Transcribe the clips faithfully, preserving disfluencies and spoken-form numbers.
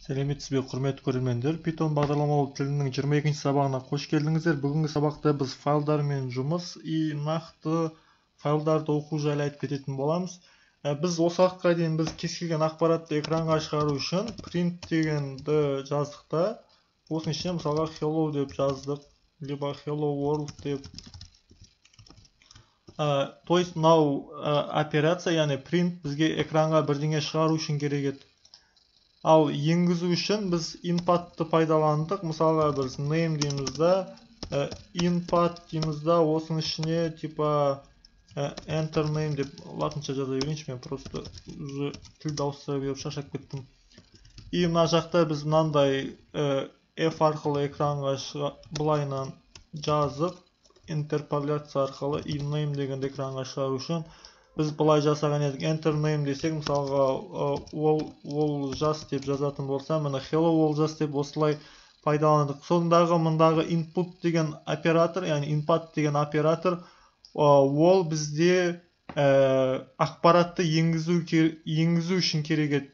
Сәлеметсіз бе, құрметті көрермендер. Python бағдарламалау тілінің жиырма екінші сабағына қош келдіңіздер. Бүгінгі сабақта біз файлдармен жұмыс и нақты файлдарды оқу жайлы айтып кететін боламыз. Біз осы уақытқа дейін біз кез келген ақпаратты экранға шығару үшін print дегенді жаздық та. Осының ішіне мысалға hello деп жаздық, либо hello world деп. То есть мынау операция, яғни print бізге экранға бірдеңе шығару үшін керек еді. Ал енгізу үшін біз input-ты пайдаландық. Мысалға біз name дейміз да, input дейміз да, осының ішіне типа enter name деп латынша жаза берейінші, мен просто тілді ауыстыра беріп шаршап кеттім. И мына жақта біз мынандай F арқылы экранға былайынан жазып, интерполяция арқылы и name дегенді экранға шығару үшін біз былай жасаған едік. Enter name десек, мысалға ол жас деп жазатын болса, мына hello ол жас деп осылай пайдаландық. Сондағы мындағы input деген оператор, яғни input деген оператор, ол бізде ақпаратты енгізу үшін керек еді.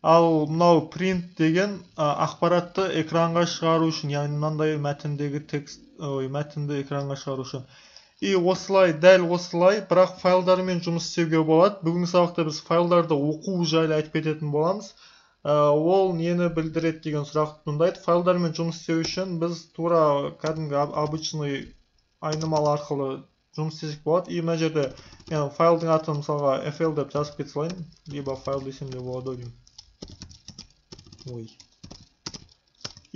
Ал мынау print деген ақпаратты экранға шығару үшін, яғни мынандай мәтіндегі текст, мәтінді экранға шығару үшін. И осылай, дәл осылай, бірақ файлдармен жұмыс істеуге болады. Бүгінгі сабақта біз файлдарды оқу жайлы айтып кететін боламыз. Ол нені білдіреді деген сұрақ туындайды. Файлдармен жұмыс істеу үшін біз тура кәдімгі обычный айнымалы арқылы жұмыс істесек болады. И мына жерде мен файлдың атын мысалға fl деп жазып кете салайын, либо файл десем де болады деймін. Ой.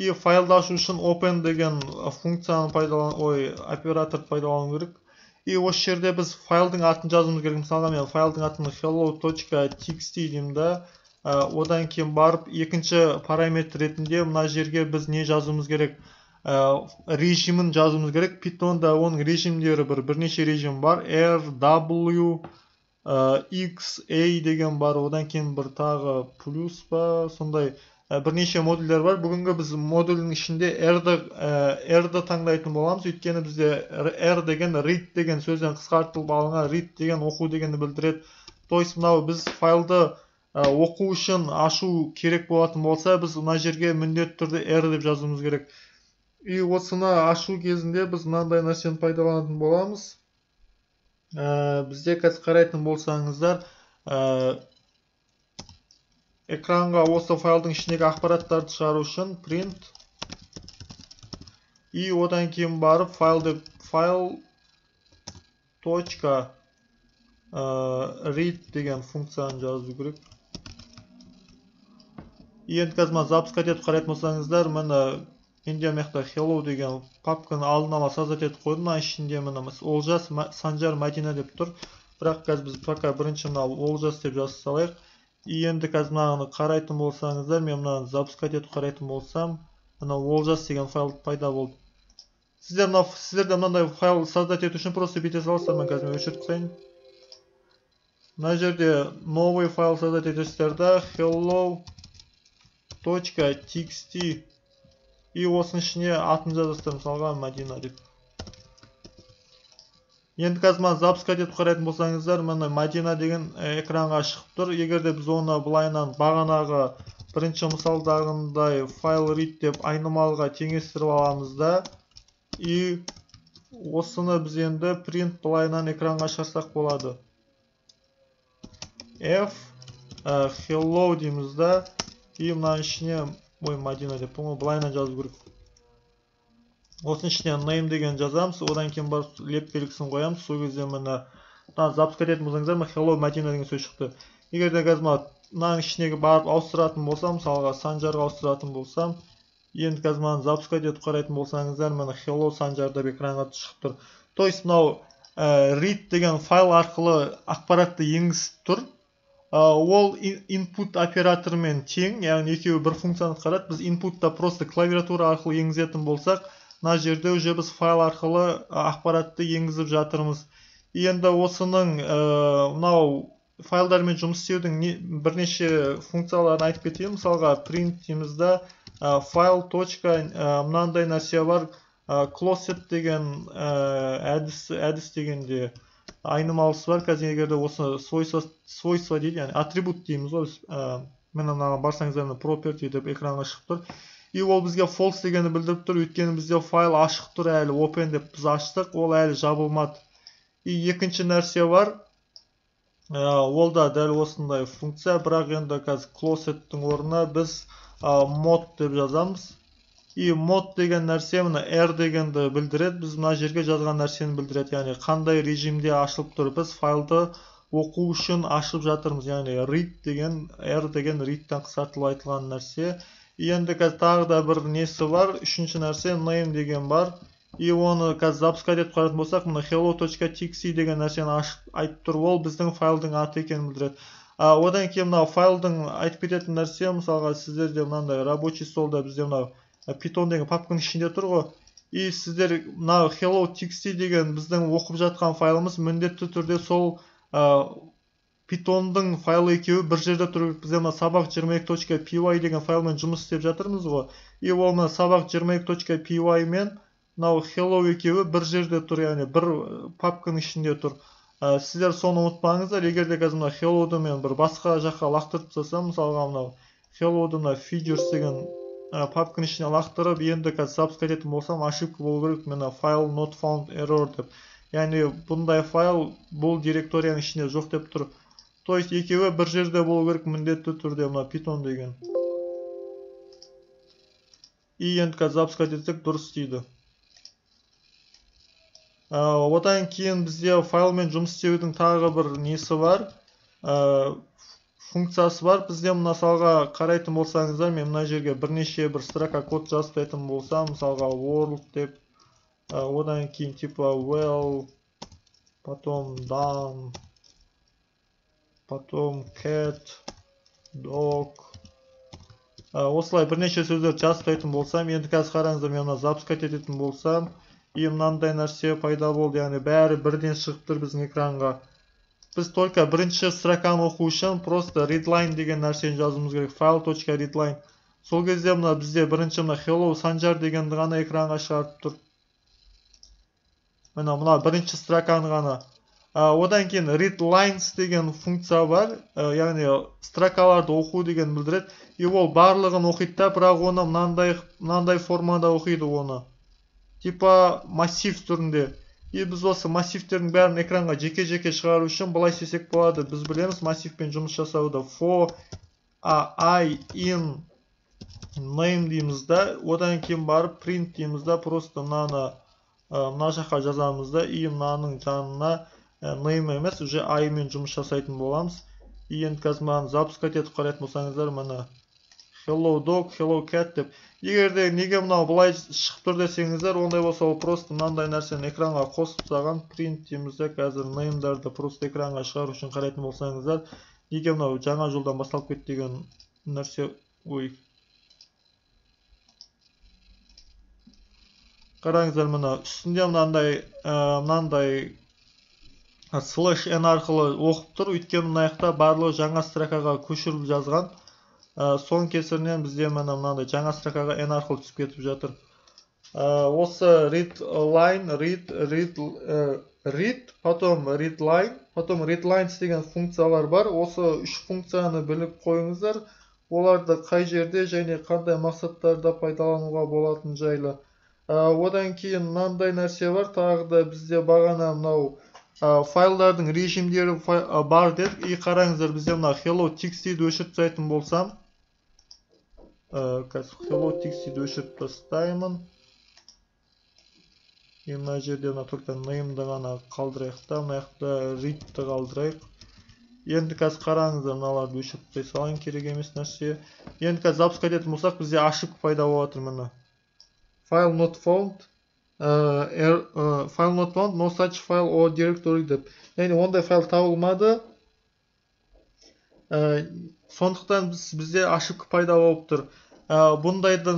И файлды ашу үшін open деген функцияны пайдалану, ой, операторды пайдалану керек. И осы жерде біз файлдың атын жазуымыз керек. Мысалға мен файлдың атын hello.txt деймін да. Одан кейін барып екінші параметр ретінде мына жерге біз не жазуымыз керек? Режимін жазуымыз керек. Python'да оның режимдері бір бірнеше режим бар. R, W, X, A деген бар. Одан кейін бір тағы плюс па, сондай бірнеше модульдер бар. Бүгінгі біз модульдің ішінде R-ды таңдайтын боламыз. Өйткені бізде R деген read деген сөзден қысқартылып алынған, read деген оқу дегенді білдіреді. То есть мынау біз файлды оқу үшін ашу керек болатын болса, біз мына жерге міндетті түрде R деп жазуымыз керек. И осыны ашу кезінде біз мынандай нәрсені пайдаланатын боламыз. Бізде қазір қарайтын болсаңыздар, экранға осы файлдың ішіндегі ақпараттарды шығару үшін print и одан кейін барып файлды файл точка read деген функцияны жазу керек. Енді қазір запускать етіп қарайтын болсаңыздар, мына менде мақта hello деген папканы алдын ала создать етіп қойдым. Мына ішінде мына Олжас, Санжар, Мәдина деп тұр. Бірақ қазір біз пока бірінші мына Олжас деп жазып салайық. И енді қазір мынаны қарайтын болсаңыздар, мен мынаны запускать етіп қарайтын болсам, мына Олжас деген файл пайда болды. Сіздерде мынандай файл создать ету үшін просто бүйте саласыздар, мен қазір өшіріп тастайын. Мына жерде новый файл создать етесіздер да, hello.txt и осының ішіне атын жазасыздар, мысалға Мәдина деп. Енді қазір мына запускать етіп қарайтын болсаңыздар, мына Мәдина деген экранға шығып тұр. Егерде біз оны былайынан бағанағы бірінші мысалдағындай файл read деп айнымалыға теңестіріп аламыз да, и осыны біз енді print былайынан экранға шығарсақ болады. F hello дейміз да, и мына ішіне, ой, Мәдина деп, оны былайынан жазу керек. Осының ішіне name деген жазамыз, одан кейін барып леп белгісін қоямыз. Сол кезде мына запускать етіп болсаңыздар, hello Мәдина деген сөз шықты. Егерде қазір мынаның ішінегі барып ауыстыратын болсам, мысалға Санжарға ауыстыратын болсам, енді қазір мынаны запускать етіп қарайтын болсаңыздар, мына hello Санжар деп экранға шығып тұр. То есть мынау read деген файл арқылы ақпаратты енгізіп тұр. Ол input операторымен тең, яғни екеуі бір функцияны атқарады. Біз inputта просто клавиатура арқылы енгізетін болсақ, мына жерде уже біз файл арқылы ақпаратты енгізіп жатырмыз. Енді осының мынау файлдармен жұмыс істеудің бірнеше функцияларын айтып кетейін. Мысалға print дейміз да, файл точка мынандай нәрсе бар, closet деген әдіс дегенде айнымалысы бар. Қазір егерде осы свойство дейді, яғни атрибут дейміз ғой, Мына мынаған барсаңыздар мына property деп экранға шығып тұр. И ол бізге false дегенді білдіріп тұр, өйткені бізде файл ашық тұр әлі, open деп біз аштық, ол әлі жабылмады. И екінші нәрсе бар, ол да дәл осындай функция, бірақ енді қазір closet'тің орнына біз mod деп жазамыз. И mod деген нәрсе мына r дегенді білдіреді, біз мына жерге жазған нәрсені білдіреді, яғни қандай режимде ашылып тұр, біз файлды оқу үшін ашып жатырмыз, яғни read деген, r деген read'тен қысқартылып айтылған нәрсе. Енді қазір тағы да бір несі бар, үшінші нәрсе name деген бар. И оны қазір запускать етіп қарайтын болсақ, мына hello.txt деген нәрсені айтып тұр, ол біздің файлдың аты екенін білдіреді. Одан кейін мына файлдың айтып кететін нәрсе, мысалға сіздерде мынандай рабочий столда бізде мына Python деген папканың ішінде тұр ғой. И сіздер мына hello.txt деген біздің оқып жатқан файлымыз міндетті түрде сол Python'дың файлы екеуі бір жерде тұр. Бізде мына сабақ жиырма екі точка пи уай деген файлмен жұмыс істеп жатырмыз ғой. И ол мына сабақ жиырма екі точка пи уай мен мынау hello екеуі бір жерде тұр, яғни бір папканың ішінде тұр. Сіздер соны ұмытпаңыздар. Егер де қазір мына hello'ды мен бір басқа жаққа лақтырып тастасам, мысалға мынау hello'ды мына features деген папканың ішіне лақтырып, енді қазір запускать ететін болсам, ошибка болу керек, мына file not found error деп. Яғни бұндай файл бұл директорияның ішінде жоқ деп тұр. То есть екеуі бір жерде болу керек міндетті түрде мына Python деген. И енді қазір запускать етсек дұрыс істейді. Одан кейін бізде файлмен жұмыс істеудің тағы бір несі бар, функциясы бар. Бізде мысалға қарайтын болсаңыздар, мен мына жерге бірнеше бір строка код жазып болсам, мысалға world деп, одан кейін типа well, потом done, потом cat, dog. Осылай бірнеше сөздер жазып болсам, енді қазір қараңыздар, мен запускать ететін болсам, и мынандай нәрсе пайда болды, яғни бәрі бірден шығып тұр біздің экранға. Біз только бірінші строканы оқу үшін просто readline деген нәрсені жазуымыз керек, file.readline. Сол кезде мына бізде бірінші мына hello санжар дегенді ғана экранға шығарып тұр. Мына мына бірінші строканы ғана. Одан кейін readlines деген функция бар, яғни строкаларды оқу деген білдіреді. И ол барлығын оқиды да, бірақ оны мынандай мынандай формада оқиды оны. Типа массив түрінде. И біз осы массивтердің бәрін экранға жеке-жеке шығару үшін былай істесек болады. Біз білеміз массивпен жұмыс жасауды. For I in name дейміз да, одан кейін барып print дейміз да, просто мынаны мына жаққа жазамыз да, и мынаның жанына name емес, уже I мен жұмыс жасайтын боламыз. И енді қазір мынаны запускать етіп қарайтын болсаңыздар, мына hello dog, hello cat деп. Егер де неге мынау былай шығып тұр десеңіздер, ондай болса ол просто мынандай нәрсені экранға қосып тастаған, print дейміз де, қазір name'дарды просто экранға шығару үшін қарайтын болсаңыздар, неге мынау жаңа жолдан басталып кетті деген нәрсе, ой. Қараңыздар, мына үстінде мынандай мынандай slash n арқылы оқып тұр, өйткені мына жақта барлығы жаңа строкаға көшіріп жазған. Соның кесірінен бізде мына мынандай жаңа строкаға n арқылы түсіп кетіп жатыр. Осы read line, read, read, read, потом read line, потом read lines деген функциялар бар. Осы үш функцияны біліп қойыңыздар. Оларды қай жерде және қандай мақсаттарда пайдалануға болатын жайлы. Одан кейін мынандай нәрсе бар, тағы да бізде бағана мынау файлдардың режимдері бар дедік. И қараңыздар, бізде мына hello.txt-ді өшіріп тастайтын болсам, hello.txt-ді өшіріп тастаймын. И мына жерде мына только name-ді ғана қалдырайық та, мына жақта read-ді қалдырайық. Енді қазір қараңыздар, мыналарды өшіріп тастай салайын, керек емес нәрсе. Енді қазір запускать ететін болсақ, бізде ошибка пайда болып жатыр мына. File not found. Uh, er, uh, file not found, no such file or directory деп. Яғни ондай файл табылмады. Uh, сондықтан біз, бізде ошибка пайда болып тұр. Uh, бұндайды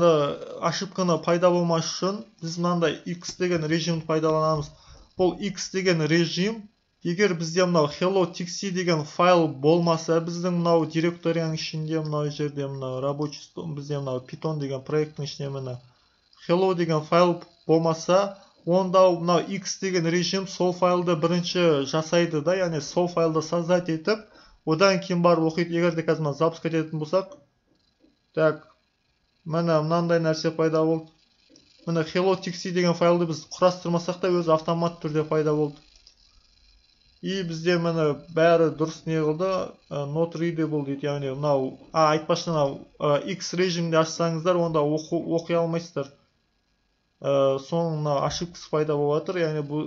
ошибканы пайда болмас үшін біз мынандай x деген режимді пайдаланамыз. Бұл x деген режим, егер бізде мынау hello.txt деген файл болмаса, біздің мынау директорияның ішінде, мынау жерде мынау рабочий стол, бізде мынау Python деген проекттің ішінде мына hello деген файл болмаса, онда мынау x деген режим сол файлды бірінші жасайды да, яғни сол файлды создать етіп, одан кейін барып оқиды. Егер де қазір запуск ететін болсақ, так, міне мынандай нәрсе пайда болды. Міне hello.txt деген файлды біз құрастырмасақ та өзі автомат түрде пайда болды. И бізде міне бәрі дұрыс не қылды, not readable дейді, яғни мынау, а айтпақшы мынау X режимде ашсаңыздар, онда оқи алмайсыздар. Соның мына ошибкасы пайда болып жатыр, яғни бұл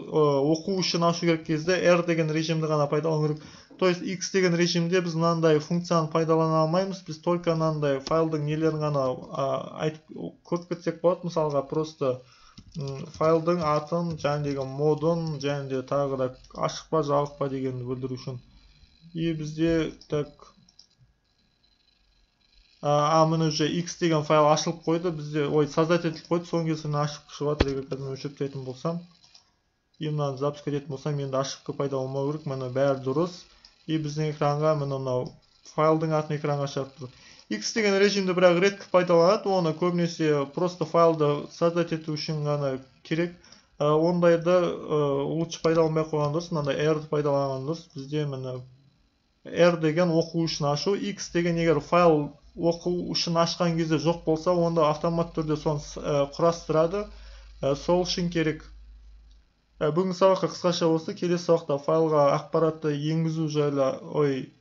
оқу үшін ашу керек кезде R деген режимді ғана пайдалану керек. То есть X деген режимде біз мынандай функцияны пайдалана алмаймыз, біз только мынандай файлдың нелерін ғана айтып көріп кетсек болады. Мысалға просто файлдың атын, және модын, және тағы да ашық па жабық па дегенді білдіру үшін. И бізде так, а міне уже X деген файл ашылып қойды, бізде ой создать етіліп қойды, соңғы кезде ашып шығып жатыр. Егер қазір өшіртетін болсам, и мынаны запуск ететін болсам, енді ошибка пайда болмау керек, міне бәрі дұрыс. И біздің экранға міне мынау файлдың атын экранға шығарып тұр. X деген режимді бірақ редко пайдаланады, оны көбінесе просто файлды создать ету үшін ғана керек. Ондайды лучше пайдаланбай қойған дұрыс, мынандай R-ді пайдаланған дұрыс. Бізде міне R деген оқу үшін ашу, X деген егер файл оқу үшін ашқан кезде жоқ болса, онда автомат түрде соны құрастырады. Сол үшін керек. Бүгінгі сабаққа қысқаша осы. Келесі сабақта файлға ақпаратты енгізу жайлы, ой,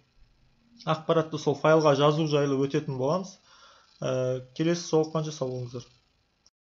ақпаратты сол файлға жазу жайлы өтетін боламыз. Келесі жолыққанша сау болыңыздар.